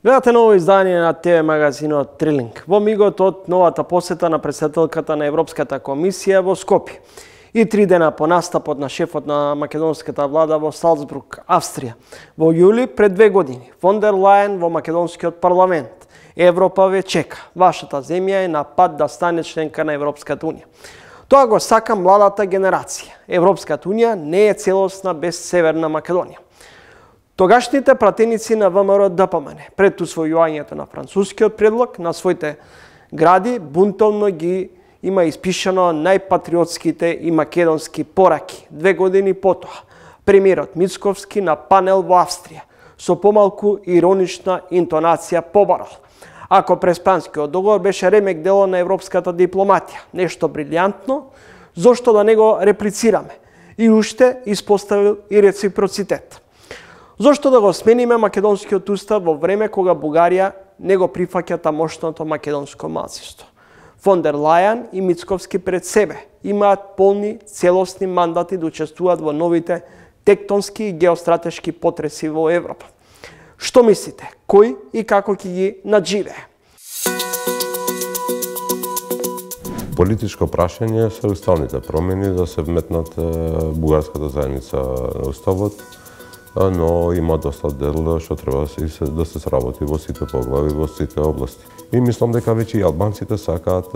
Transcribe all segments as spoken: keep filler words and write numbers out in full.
Гледате ново издание на ТВ магазинот Трилинг. Во мигот од новата посета на претседателката на Европската комисија во Скопје и три дена по настапот на шефот на македонската влада во Салцбург, Австрија. Во јули пред две години фон дер Лајен во македонскиот парламент. Европа ве чека. Вашата земја е на пат да стане членка на Европската унија. Тоа го сака младата генерација. Европската унија не е целосна без Северна Македонија. Тогашните пратеници на ВМРО Д П М Н пред усвојувањето на францускиот предлог на своите гради бунтовно ги има испишано најпатриотските и македонски пораки. Две години потоа, премиерот Мицковски на панел во Австрија со помалку иронична интонација побарал. Ако Преспанскиот договор беше ремек дело на европската дипломатија, нешто брилјантно, зошто да не го реплицираме? И уште испоставил и реципроцитет. Зошто да го смениме македонскиот устав во време кога Бугарија не го прифаќа тамошното македонско малцинство? Фон дер Лајен и Мицковски пред себе имаат полни целосни мандати да учествуваат во новите тектонски и геостратешки потреси во Европа. Што мислите? Кој и како ќе ги надживее? Политичко прашање се уставните промени да се вметнат бугарската заедница на уставот, но има доста дел што треба да се сработи во сите поглави, во сите области. И мислам дека веќе и албанците сакаат,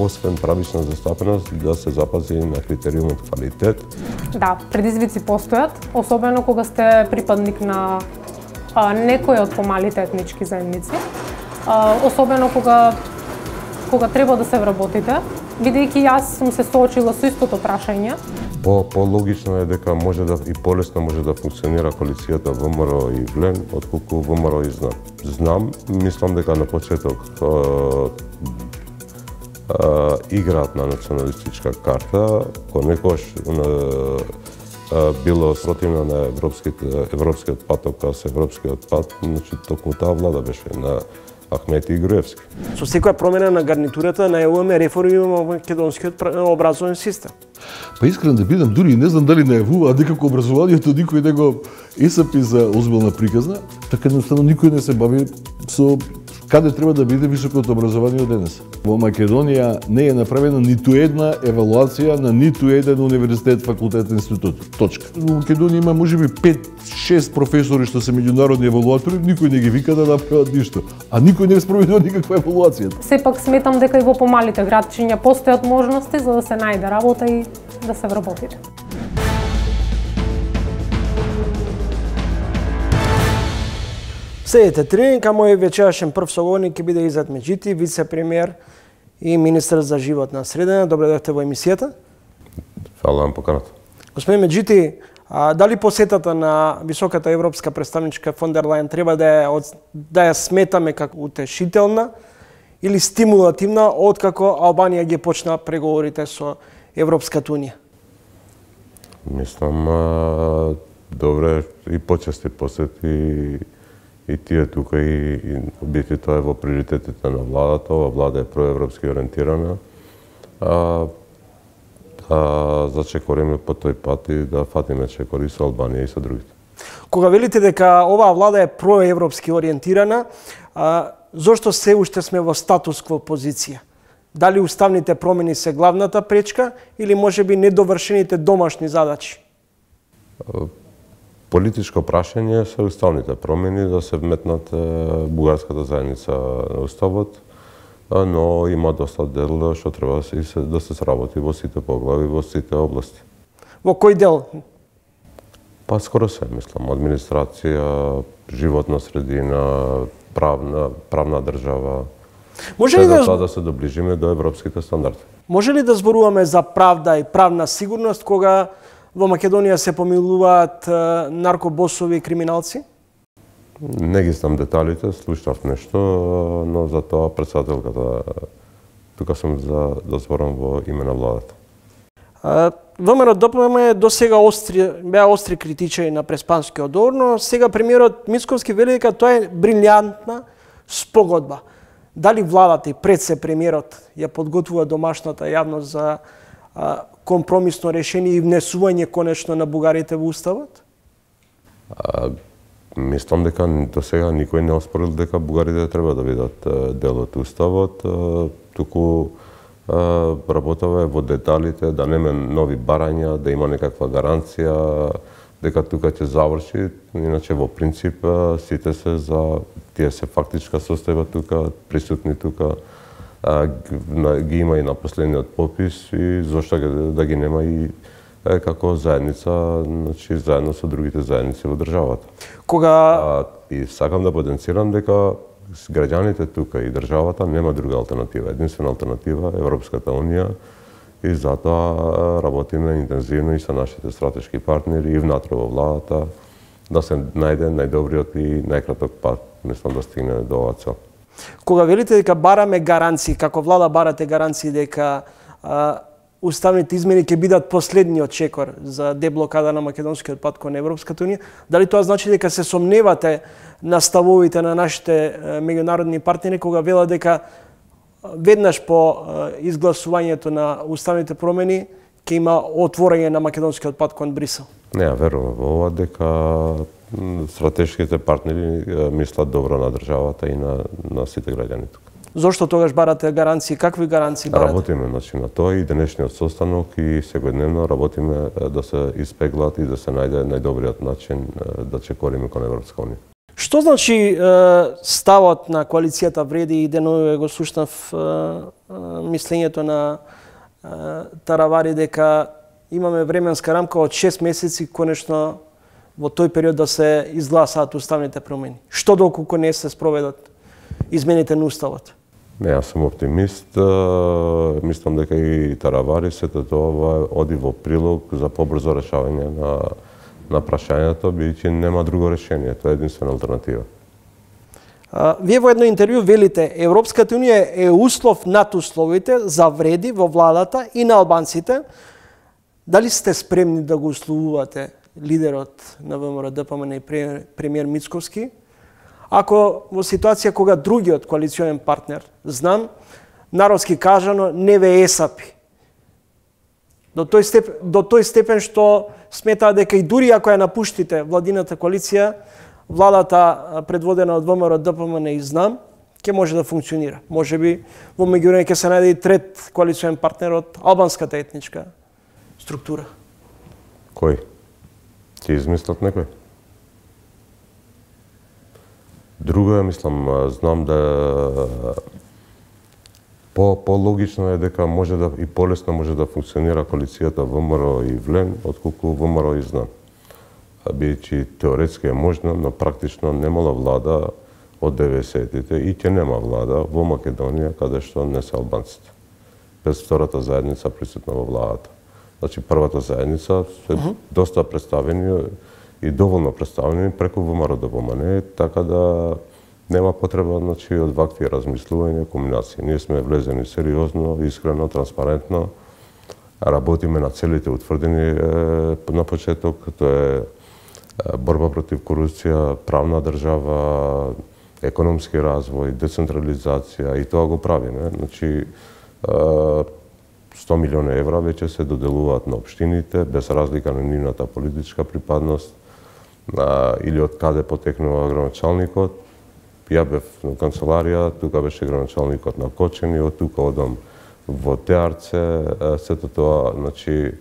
освен правична застапеност, да се запази на критериумот квалитет. Да, предизвици постојат, особено кога сте припадник на а, некој од помалите етнички заедници, а, особено кога кога треба да се вработите, бидејќи јас сум се соочила со истото прашање. По по-логично е дека може да и полесно може да функционира коалицијата ВМРО и ВЛЕН отколку ВМРО и ЗНАМ. Знам, мислам дека на почеток а, а, играат на националистичка карта, кој некош било спротивно на европскиот европскиот пат, со европскиот пат, значи токму таа влада беше на Ахмети и Груевски. Со секоја промена на гарнитурата најавуваме реформи во македонскиот образовен систем. Па искрен да бидам, дури не знам дали најавува дека образованието никој не го есапи за озбилна приказна, така едноставно никој не се бави со каде треба да биде високото образование денес. Во Македонија не е направена ниту една евалуација на ниту еден универзитет, факултет, институт. Точка. Во Македонија има можеби пет-шест професори што се меѓународни евалуатори, никој не ги вика да направат ништо, а никој не спроведува никаква евалуација. Сепак сметам дека и во помалите градчиња постојат можности за да се најде работа и да се вработите. Следете Трилинг, а мој вечерашен прв соговорник ќе биде Изет Меджити, вице-премиер и министар за животна средина. Добре дојдовте во емисијата. Фала на поканата. Господин Меджити, а, дали посетата на високата европска представничка фон дер Лајен треба да ја, да ја сметаме како утешителна или стимулативна откако Албанија ги почна преговорите со Европската унија? Мислам, а, добре и почести посети и тие тука и, и бити тоа е во приоритетите на владата. Ова влада е проевропски ориентирана. А, да зачекориме по тој пат и да фатиме чекори со Албанија и со другите. Кога велите дека оваа влада е проевропски ориентирана, а, зошто се уште сме во статус-кво позиција? Дали уставните промени се главната пречка или можеби недовршените домашни задачи? Политичко прашање се уставните промени да се вметнат бугарската заедница на уставот, но има доста дел што треба да се сработи во сите поглави, во сите области. Во кој дел? Па скоро се, мислам, администрација, животна средина, правна, правна држава. Може ли да, да, да се доближиме до европските стандарди? Може ли да зборуваме за правда и правна сигурност кога во Македонија се помилуваат наркобосови и криминалци? Не ги знам деталите, слушнав нешто, но за тоа председателката тука сум за да зборам во име на владата. ВМРО Д П М Н досега остри беа остри критичари на Преспанскиот договор, но сега премиерот Мицковски вели дека тоа е брилјантна спогодба. Дали владата и пред се премиерот ја подготвува домашната јавност за а, компромисно решение и внесување конечно на бугарите во уставот? А, Мислам дека до сега никој не оспорил дека бугарите треба да бидат дел од уставот, туку работава во деталите, да нема нови барања, да има некаква гаранција дека тука ќе заврши. Иначе во принцип сите се за тие се фактичка состојба тука, присутни тука, ги има и на последниот попис и зошто да ги нема и како заедница, значи заедно со другите заедници во државата. Кога а, и сакам да потенцирам дека граѓаните тука и државата нема друга алтернатива. Единствена алтернатива е Европската унија и затоа работиме интензивно и со нашите стратешки партнери и внатре во владата да се најде најдобриот и најкраток пат, мислам да стигне до оваа цел. Кога велите дека бараме гаранции, како влада барате гаранции дека а, уставните измени ќе бидат последниот чекор за деблокада на македонскиот пат кон Европската унија, дали тоа значи дека се сомневате на ставовите на нашите меѓународни партнери кога велат дека веднаш по изгласувањето на уставните промени ќе има отворање на македонскиот пат кон Брисел? Не, верувам во ова дека стратешките партнери мислат добро на државата и на, на сите граѓани тука. Зошто тогаш барате гаранции? Какви гаранции барате? Работиме значи, на тоа и денешниот состанок и секојдневно работиме да се испеглат и да се најде најдобриот начин да чекориме кон Европска унија. Што значи ставот на коалицијата вреди и деновиве го слушнав мислењето на Таравари дека имаме временска рамка од шест месеци конечно во тој период да се изгласаат уставните промени. Што доколку не се спроведат измените на уставот? Не, јас сум оптимист. Мислам дека и Таравари сето тоа оди во прилог за побрзо решавање на на прашањето, бидејќи нема друго решение, тоа е единствена алтернатива. А, вие во едно интервју велите Европската унија е услов над условите за вреди во владата и на албанците. Дали сте спремни да го условувате лидерот на ВМРО Д П М Н и премиер Мицковски? Ако во ситуација кога другиот коалиционен партнер, знам, народски кажано, не ве есапи. До тој степен, до тој степен што сметаа дека и дури ако ја напуштите владината коалиција, владата предводена од ВМРО Д П М Н и знам, ќе може да функционира. Можеби во меѓувреме ќе се најде и трет коалиционен партнер од албанската етничка структура. Кој? Ќе измислат некој? Друго е, мислам, знам да по пологично е дека може да и полесно може да функционира коалицијата ВМРО и ВЛЕМ отколку ВМРО и знам. Бидејќи теоретски е можно, но практично немала влада од деветдесетите и ќе нема влада во Македонија каде што не се албанците. Без втората заедница присутна во владата. Значи првата заедница се uh -huh. доста представени и доволно представени преку ВМРО Д П М Н, така да нема потреба значи од вакви размислувања, комбинации. Ние сме влезени сериозно, искрено, транспарентно. Работиме на целите утврдени е, на почеток, тоа е борба против корупција, правна држава, економски развој, децентрализација и тоа го правиме. Значи сто милиони евра веќе се доделуваат на општините без разлика на нивната политичка припадност или од каде потекнува граначалникот. Ја бев на канцеларија, тука беше граначалникот на Кочани, од тука одам во Теарце, сето тоа, значи,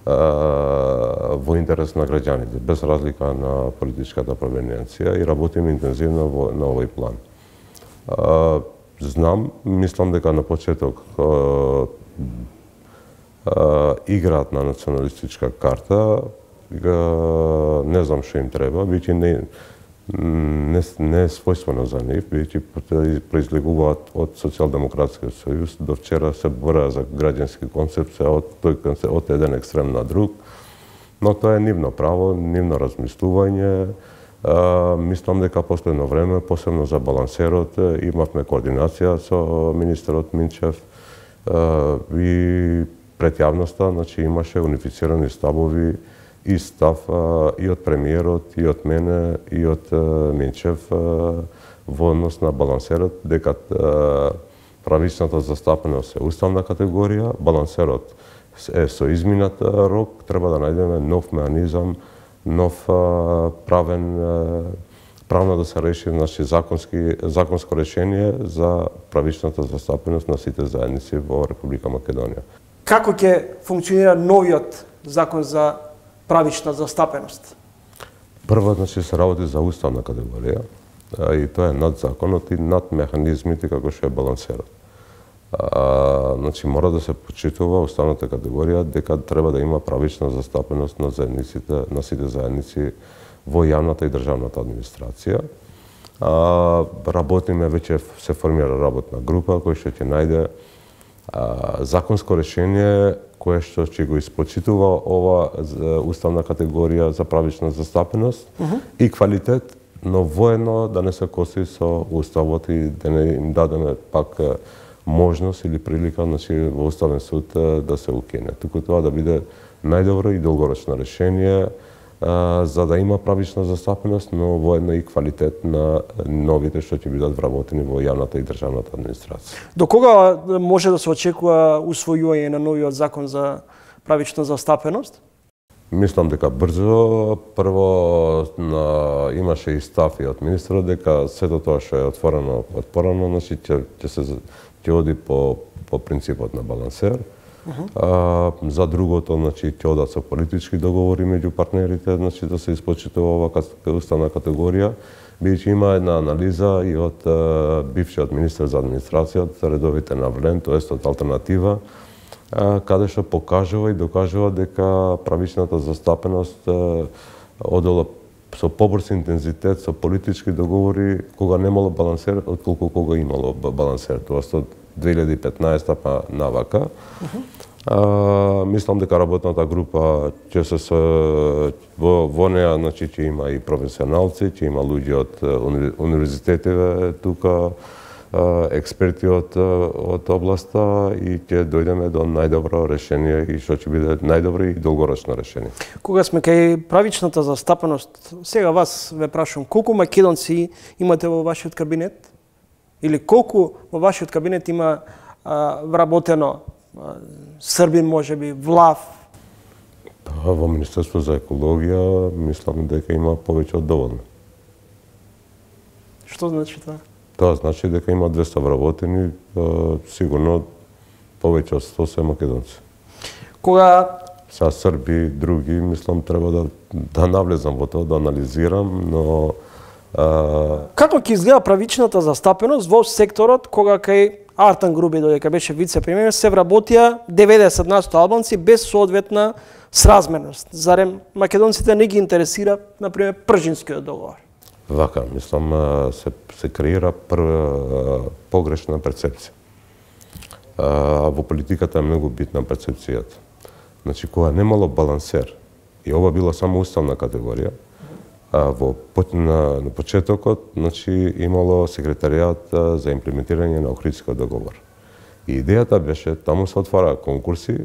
во интерес на граѓаните, без разлика на политичката провениенција и работиме интензивно во, на овој план. Знам, мислам дека на почеток играат на националистичка карта, не знам што им треба, бидејќи не Не, не е својствено за нив, бидејќи произлегуваат од Социјалдемократскиот сојуз. До вчера се бораа за граѓански концепт, од тој концепт, од еден екстрем на друг. Но тоа е нивно право, нивно размислување. А, мислам дека последно време, посебно за балансерот, имавме координација со министерот Минчев а, и пред јавноста, значи имаше унифицирани ставови и став а, и од премиерот, и од мене, и од а, Минчев а, во однос на балансерот, дека а, правичната застапеност е уставна категорија, балансерот е со изминат рок, треба да најдеме нов механизам, нов а, правен а, правно да се реши, значи законски законско решение за правичната застапеност на сите заедници во Република Македонија. Како ќе функционира новиот закон за правична застапеност? Прво, значи, се работи за уставна категорија, и тоа е над законот и над механизмите како што е балансерот. А, значи, мора да се почитува уставната категорија дека треба да има правична застапеност на заедниците, на сите заедници во јавната и државната администрација. А, работиме, веќе се формира работна група која што ќе најде а, законско решение кое што ќе го испочитува ова уставна категорија за правична застапеност uh -huh. и квалитет, но воедно да не се коси со уставот и да не им дадеме пак можност или прилика, значи, во Уставен суд да се укине. Туку тоа да биде најдобро и долгорочно решение, а, за да има правична застапеност, но воедно и квалитет на новите што ќе бидат вработени во јавната и државната администрација. До кога може да се очекува усвојување на новиот закон за правична застапеност? Мислам дека брзо. Прво, на, имаше и став и од министерот дека сето тоа што е отворено од порано, значи ќе ќе се ќе оди по по принципот на балансер. Uh -huh. а, за другото, значи ќе одат со политички договори меѓу партнерите, значи да се испочитува ова уставна категорија. Бидејќи има една анализа и од а, бившиот министер за администрација, од редовите на Влен, тоест од алтернатива, а, каде што покажува и докажува дека правичната застапеност а, одела со побрз интензитет, со политички договори, кога немало балансер, отколку кога имало балансер. Тоа од две илјади и петнаесета па навака. Uh -huh. а, мислам дека работната група ќе се со, во, во неа, значи, ќе има и професионалци, ќе има луѓе од уни, универзитетиве тука, а, експерти од, од областа и ќе дојдеме до најдобро решение и што ќе биде најдобро и долгорочно решение. Кога сме кај правичната застапеност, сега вас ве прашувам, колку македонци имате во вашиот кабинет? Или колку во вашиот кабинет има а, вработено а, Србин, можеби, влав? Па, во Министерство за екологија мислам дека има повеќе од доволно. Што значи тоа? Тоа значи дека има двеста вработени, а, сигурно повеќе од сто се македонци. Кога Са Срби, други, мислам треба да да навлезам во тоа, да анализирам, но а... како ќе изгледа правичната застапеност во секторот кога кај Артан Груби, додека беше вице-премиер, се вработија деветдесет на сто албанци без соодветна сразмерност? Зарем македонците не ги интересира, например, Пржинскиот договор? Вака, мислам, се, се креира прва погрешна перцепција. А, во политиката е многу битна перцепцијата. Значи, кога немало балансер, и ова била само уставна категорија, а, во, на, на почетокот, значи, имало секретаријат за имплементирање на Охридскиот договор. И идејата беше, таму се отвара конкурси,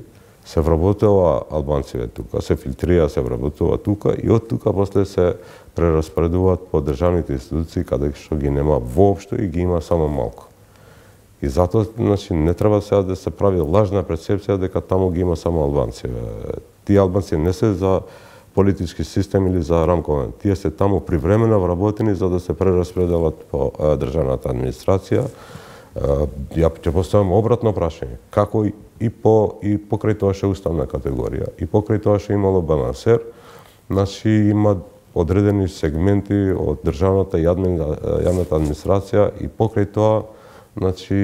се вработува албанците тука, се филтрира, се вработува тука и од тука после се прераспоредуваат по државните институции каде што ги нема воопшто и ги има само малку. И затоа, значи, не треба сега да се прави лажна перцепција дека таму ги има само албанци. Тие албанци не се за политички систем или за рамковен. Тие се таму привремено вработени за да се прераспределат по државната администрација. Ја ќе поставам обратно прашање. Како и по и покрај тоа што е уставна категорија, и покрај тоа што имало балансер, значи има одредени сегменти од државната и јавната администрација и покрај тоа, значи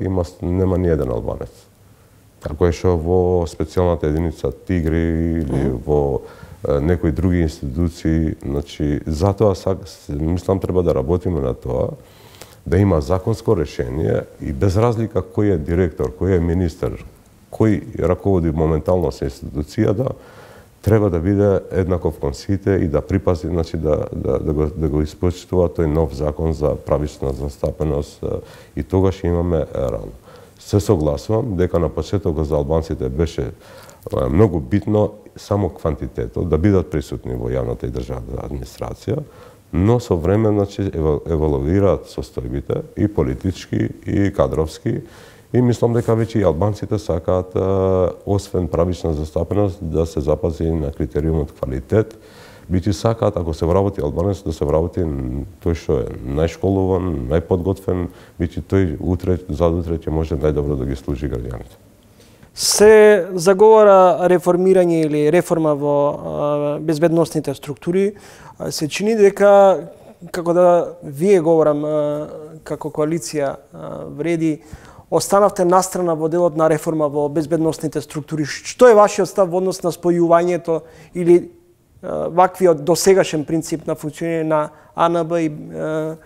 има нема ни еден албанец. Како е што во специјалната единица Тигри или mm -hmm. во некои други институции, значи затоа мислам треба да работиме на тоа, да има законско решение и без разлика кој е директор, кој е министер, кој раководи моментално со институцијата, треба да биде еднаков кон сите и да припази, значи да да да го да го испочитува тој нов закон за правична застапеност и тогаш имаме рано. Се согласувам дека на почетокот за албанците беше многу битно само квантитетот, да бидат присутни во јавната и државната администрација, но со време, значи, еволуираат состојбите и политички и кадровски и мислам дека веќе и албанците сакаат освен правична застапеност да се запази на критериумот квалитет, Биќе сакаат, ако се вработи албанец, да се вработи тој што е најшколуван, најподготвен, биќе тој утре, задутре ќе може најдобро да ги служи граѓаните. Се заговара реформирање или реформа во а, безбедносните структури. А, се чини дека, како да вие говорам, а, како коалиција а, вреди, останавте настрана во делот на реформа во безбедносните структури. Што е вашиот став во однос на спојувањето или а, ваквиот досегашен принцип на функционирање на А Н Б и а,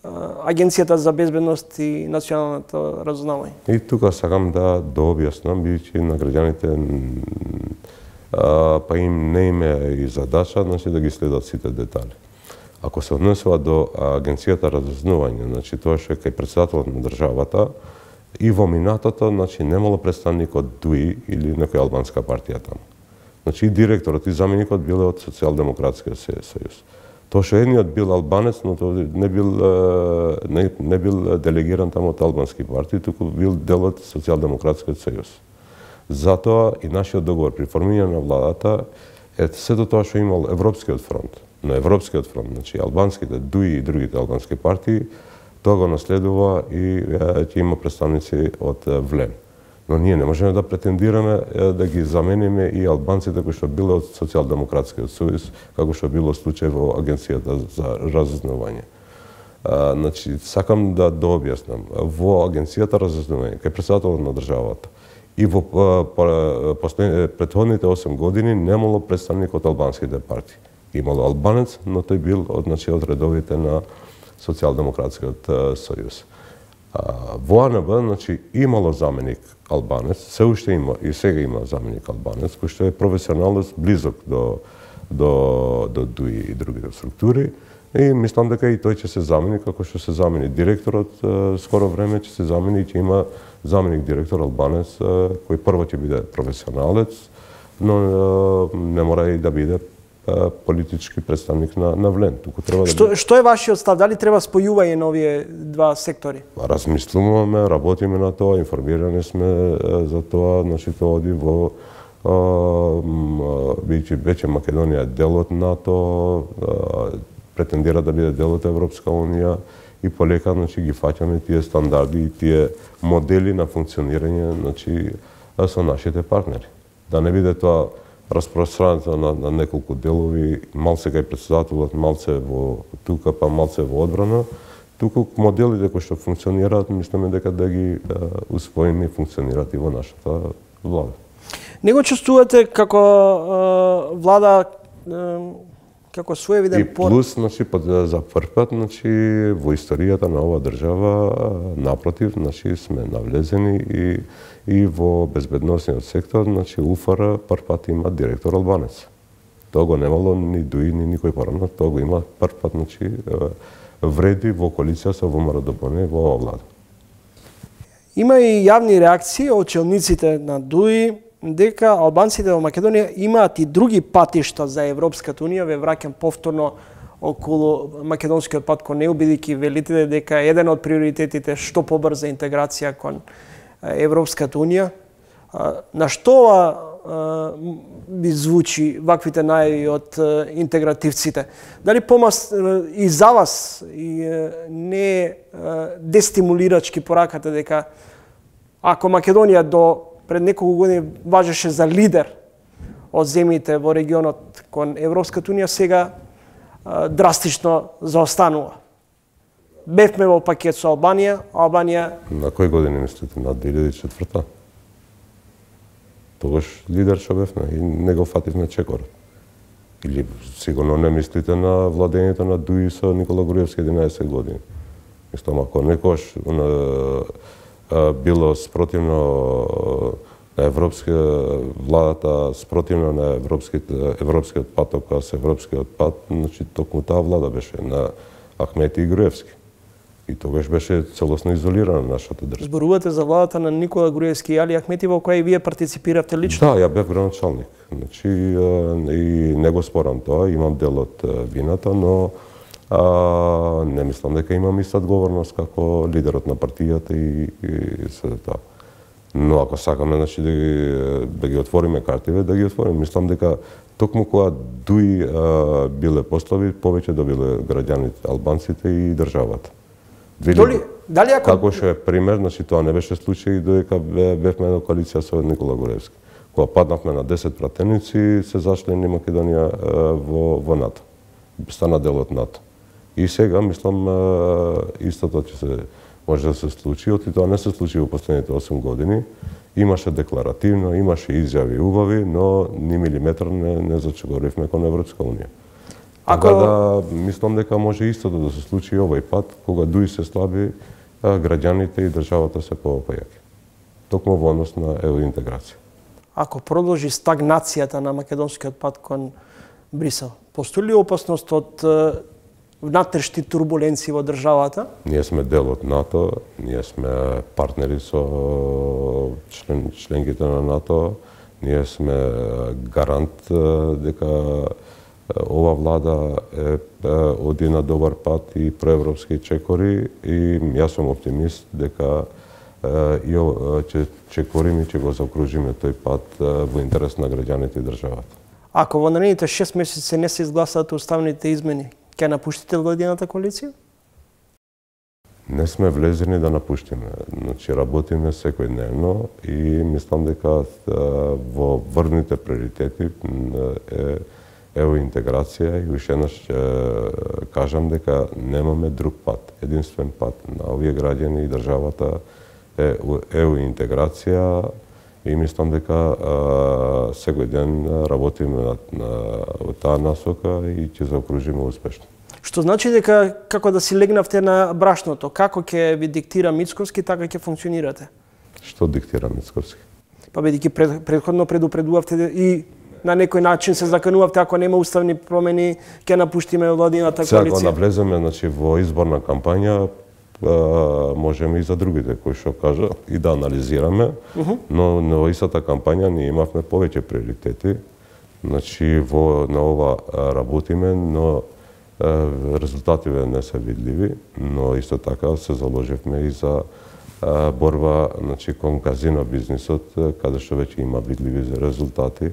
Агенцијата за безбедност и националното разузнавање? И тука сакам да дообјаснам, бидејќи на граѓаните а, па им не им е и задача, значи да ги следат сите детали. Ако се однесува до Агенцијата разузнавање, значи тоа што е кај претседателот на државата, и во минатото, значи немало представник од Д У И или некоја албанска партија таму. Значи и директорот и заменикот биле од Социјалдемократскиот сојуз. Тоа што едниот бил албанец, но тој не бил не, не бил делегиран таму од албански партии, туку бил дел од Социјалдемократскиот сојуз. Затоа и нашиот договор при формирање на владата е сето тоа што имал Европскиот фронт. На Европскиот фронт, значи албанските Д У И и другите албански партии, тоа го наследува и ќе има представници од ВЛЕМ. Но ние не можеме да претендираме да ги замениме и албанците кои што биле од Социјалдемократскиот сојуз, како што било случај во Агенцијата за разузнавање. Значи, сакам да дообјаснам. Во Агенцијата разузнавање, кај претседателот на државата, и во претходните осем години немало представник од албанските партии. Имало албанец, но тој бил од, значи, од редовите на Социјалдемократскиот сојуз. Во А Н Б, значи, имало заменик албанец, се уште има и сега има заменик албанец, кој што е професионалец близок до до до Д У И и другите структури, и мислам дека и тој ќе се замени како што се замени директорот, скоро време ќе се замени и ќе има заменик директор албанец кој прво ќе биде професионалец, но не мора и да биде политички представник на, на ВЛЕМ. Туку треба што, да... што е вашиот став? Дали треба спојување на овие два сектори? Размислуваме, работиме на тоа, информирани сме за тоа, значи тоа оди во бидејќи веќе Македонија е дел од НАТО, претендира да биде дел од Европска унија и полека, значи, ги фаќаме тие стандарди и тие модели на функционирање, значи, со нашите партнери. Да не биде тоа распространето на, на неколку делови, малце кај претседателот, малце во тука, па малце во одбрана, туку моделите кои што функционираат, мислиме дека да ги да, усвоиме и функционираат и во нашата влада. Не го чувствувате како е, влада е, како своевиден пор... И плюс, значи, за прв пат, значи, во историјата на оваа држава, напротив, значи, сме навлезени и и во безбедносниот сектор, значи У Ф Р прв пат има директор албанец. Тоа го немало ни Д У И, ни никој порано, тоа го има прв пат, значи, вреди во коалиција со Во М Р Д Б Н во оваа влада. Има и јавни реакции од челниците на Д У И дека албанците во Македонија имаат и други патишта за Европската унија. Ве враќам повторно околу македонскиот пат кон ЕУ, бидејќи велите дека еден од приоритетите што побрза интеграција кон Европската унија. На што би звучи ваквите најави од интегративците? Дали помас и за вас и не е дестимулирачки пораката дека ако Македонија до пред неколку години важеше за лидер од земјите во регионот кон Европската унија, сега драстично заостанува? Бевме во пакет со Албанија, Албанија... На кој години мислите? На две илјади и четврта? Тогаш лидер што бевме и не го фативме чекорот. Или сигурно не мислите на владењето на Д У И со Никола Груевски единаесет години. Мислам, ако некош било спротивно на европска владата, спротивно на европските европскиот патокас, европскиот пат, значи токму таа влада беше на Ахмети и Груевски. И тогаш беше целосно изолирана нашата држава. Зборувате за владата на Никола Груевски и Али Ахмети, во која и вие партиципиравте лично? Да, ја бев градоначалник. Значи, и не го спорам тоа, имам дел од вината, но а, не мислам дека имам иста одговорност како лидерот на партијата и, и се тоа. Но ако сакаме, значи, да ги, да ги отвориме картиве, да ги отвориме. Мислам дека токму кога дуи а, биле послови, повеќе добиле граѓаните, албанците и државата. Доли, дали ако... Како што е пример, значи тоа не беше случај додека бевме на коалиција со Никола Груевски. Кога паднавме на десет пратеници, се зачлени Македонија во, во НАТО. Стана дел од НАТО. И сега, мислам, истото ќе се може да се случи, оти тоа не се случи во последните осум години. Имаше декларативно, имаше изјави убави, но ни милиметар не, не зачегоривме кон Европска унија. Ако... Така да, мислам дека може истото да се случи овој пат, кога дуи се слаби, граѓаните и државата се поопајаки. Токму во однос на евроинтеграција. Ако продолжи стагнацијата на македонскиот пат кон Брисел, постои ли опасност од внатрешни турбуленции во државата? Ние сме дел од НАТО, ние сме партнери со член, членките на НАТО, ние сме гарант дека ова влада е, е оди на добар пат и проевропски чекори и јас сум оптимист дека и ќе чекориме и ќе го заокружиме тој пат во интерес на граѓаните и државата. Ако во наредните шест месеци не се изгласаат уставните измени, ќе напуштите владината коалиција? Не сме влезени да напуштиме. Значи, работиме секојдневно и мислам дека во врвните приоритети е евроинтеграција и уште еднаш ќе кажам дека немаме друг пат. Единствен пат на овие граѓани и државата е евроинтеграција и мислам дека секој ден работиме на, на, на таа насока и ќе заокружиме успешно. Што значи дека како да си легнавте на брашното, како ќе ви диктира Мицковски, така ќе функционирате? Што диктира Мицковски? Па бидејќи пред, предходно предупредувавте и на некој начин се заканувавте, ако нема уставни промени, ќе напуштиме владината коалиција. Сега, кога влеземе, значи, во изборна кампања, можеме и за другите кои што кажа и да анализираме, uh -huh. но на истата кампања ние имавме повеќе приоритети. Значи, во на ова работиме, но резултативе не се видливи, но исто така се заложивме и за борба, значи, кон казино бизнисот, каде што веќе има видливи резултати.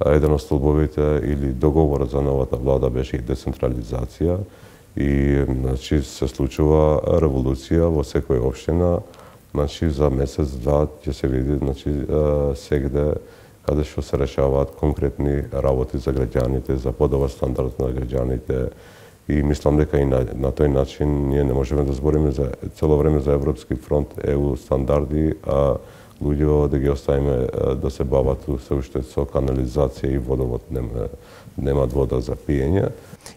Еден од столбовите или договорот за новата влада беше и децентрализација и, значи, се случува револуција во секоја општина. Значи, за месец-два ќе се види, значи, сегде каде што се решаваат конкретни работи за граѓаните, за подобар стандард на граѓаните. И мислам дека и на, на тој начин ние не можеме да збориме за цело време за Европски фронт, е у стандарди, а луѓе да ги оставиме да се бават се уште со канализација и водовод, нема, немаат вода за пиење.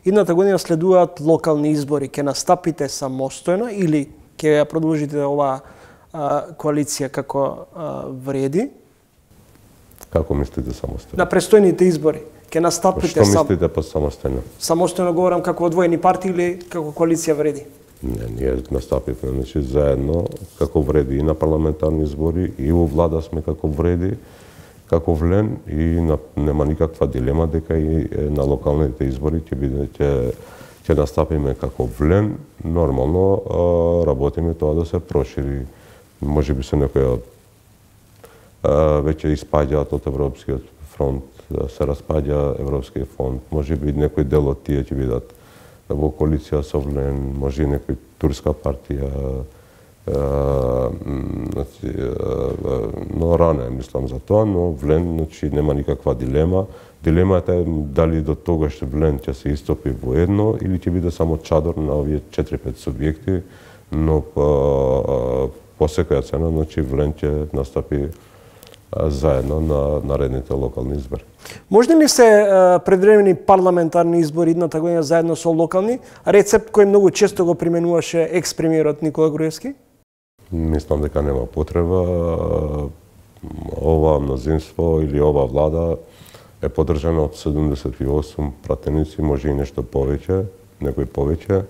Идната година следуваат локални избори. Ќе настапите самостојно или ќе ја продолжите оваа коалиција како а, вреди? Како мислите самостојно? На престојните избори. Ќе настапите Што сам... мислите по самостојно? Самостојно говорам како одвоени партии или како коалиција вреди? Не, ние настапивме, значи, заедно како вреди и на парламентарни избори и во влада сме како вреди, како влен и на, нема никаква дилема дека и на локалните избори ќе биде ќе ќе настапиме како влен. Нормално а, работиме тоа да се прошири. Можеби се некоја веќе испаѓаат од Европскиот фронт, се распаѓа Европскиот фонд, можеби некој дел од тие ќе бидат во коалиција со влен, може и некој турска партија, но рано мислам за тоа, но влен, значи, нема никаква дилема. Дилемата е дали до тогаш влен ќе се истопи во едно или ќе биде само чадор на овие четири-пет субјекти, но по, по секоја цена, значи, влен ќе настапи заедно на наредните локални избори. Можни ли се предвремени парламентарни избори идната година заедно со локални, рецепт кој многу често го применуваше екс-премиерот Никола Груевски? Мислам дека нема потреба. Ова мнозинство или ова влада е поддржана од седумдесет и осум пратеници, може и нешто повеќе, некој повеќе.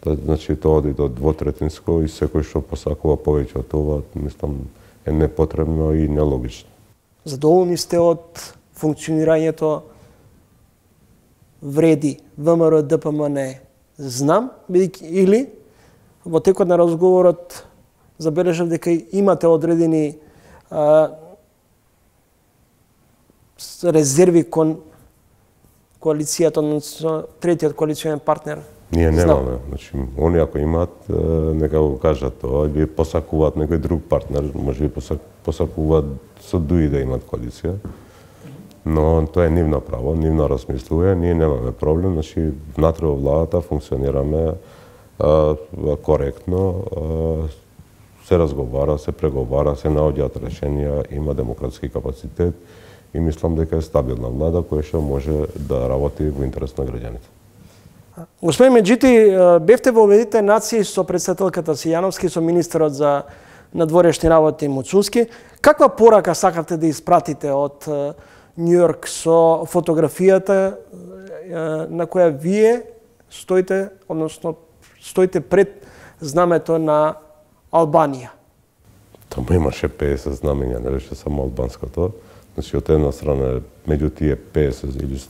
Значи, тоа оди до двотретинско и секој што посакува повеќе од това, мислам, е непотребно и нелогично. Задоволни сте од функционирањето вреди ВМРО ДПМН? Знам, или во текот на разговорот забележав дека имате одредени резерви кон коалицијата, односно третиот коалиционен партнер? Ние немаме. Значи, они ако имаат, нека го кажат тоа, или посакуваат некој друг партнер, може би посакуваат со дуи да имаат коалиција. Но тоа е нивно право, нивно размислување, ние немаме проблем, значи внатре во владата функционираме а, коректно, а, се разговара, се преговара, се наоѓаат решенија, има демократски капацитет и мислам дека е стабилна влада која што може да работи во интерес на граѓаните. Господин Меджити, бевте во Обединетите нации со претседателката Сијановски, со министерот за надворешни работи Муцунски. Каква порака сакавте да испратите од Њујорк со фотографијата на која вие стоите, односно стоите пред знамето на Албанија? Таму имаше педесет знамења, не беше само албанското. Значи, од една страна меѓу тие педесет или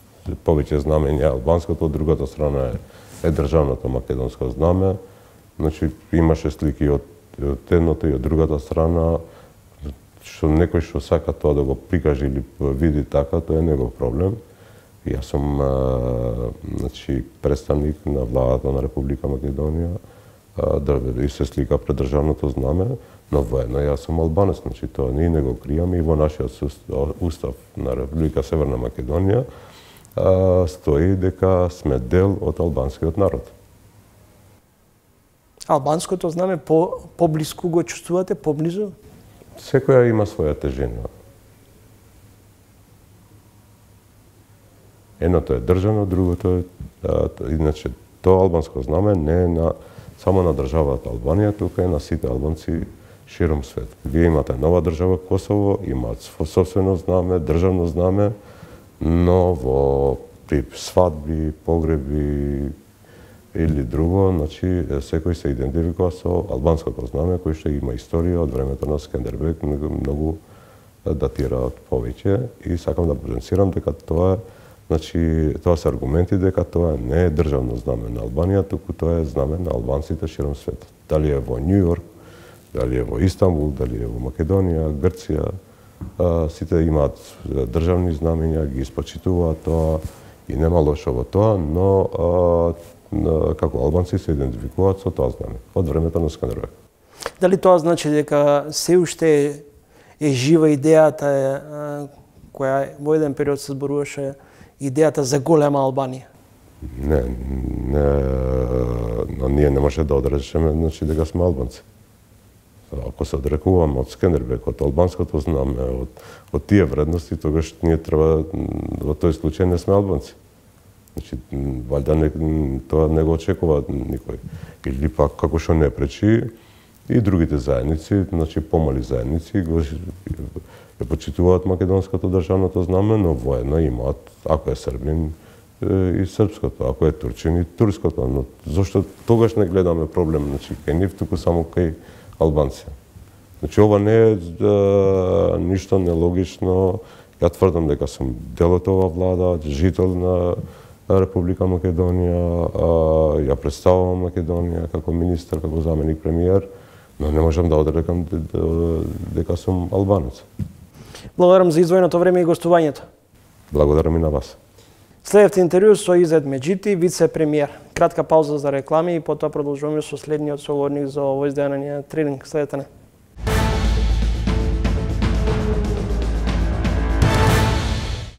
повеќе знамења албанското, од другата страна е, е државното македонско знаме. Значи, имаше слики од, од едното и од другата страна, што некој што сака тоа да го прикаже или види така, тоа е негов проблем. И јас сум а, значи, представник на владата на Република Македонија, а, да и се слика пред државното знаме, но воедно јас сум албанец, значи тоа ние не го кријаме и во нашиот устав на Република Северна Македонија а, стои дека сме дел од албанскиот народ. Албанското знаме по поблиску го чувствувате, поблизу? Секоја има своја тежина. Едното е држано, другото е, а, иначе, тоа албанско знаме не е на, само на државата Албанија, тука е на сите албанци широм свет. Вие имате нова држава Косово, имаат собствено знаме, државно знаме, но во при свадби, погреби или друго, значи секој се идентификува со албанското знаме кој што има историја од времето на Скендербег, многу, многу датира од повеќе и сакам да потенцирам дека тоа значи тоа се аргументи дека тоа не е државно знаме на Албанија, туку тоа е знаме на албанците широм светот. Дали е во Њујорк, дали е во Истанбул, дали е во Македонија, Грција, а, сите имаат државни знамења, ги испочитуваат тоа и нема лошо во тоа, но а, како албанци се идентификуваат со тоа знаме од времето на Скандербег. Дали тоа значи дека се уште е, е жива идејата е, која во еден период се зборуваше, идејата за голема Албанија? Не, не, но ние не може да одречеме значи дека сме албанци. Ако се одрекуваме од Скендербег, од албанското знаме, од, од тие вредности, тогаш ние треба во тој случај не сме албанци. Значи, валјда не, тоа не го очекува никој. Или пак, како што не пречи, и другите заедници, значи помали заедници, го ја почитуваат македонското државното знаме, но воедно имаат, ако е србин, и српското, ако е турчин, и турското. Но зошто тогаш не гледаме проблем, значи, кај нив, туку само кај албанци. Значи, ова не е да, ништо нелогично. Ја тврдам дека сум дел од ова влада, жител на Република Македонија, ја представувам Македонија како министер, како заменик премиер, но не можам да одрекам дека сум албанец. Благодарам за издвоеното време и гостувањето. Благодарам и на вас. Следевте интервју со Изет Меджити, вице-премиер. Кратка пауза за реклами и потоа продолжуваме со следниот соговорник за овој издание Трилинг. Следете не.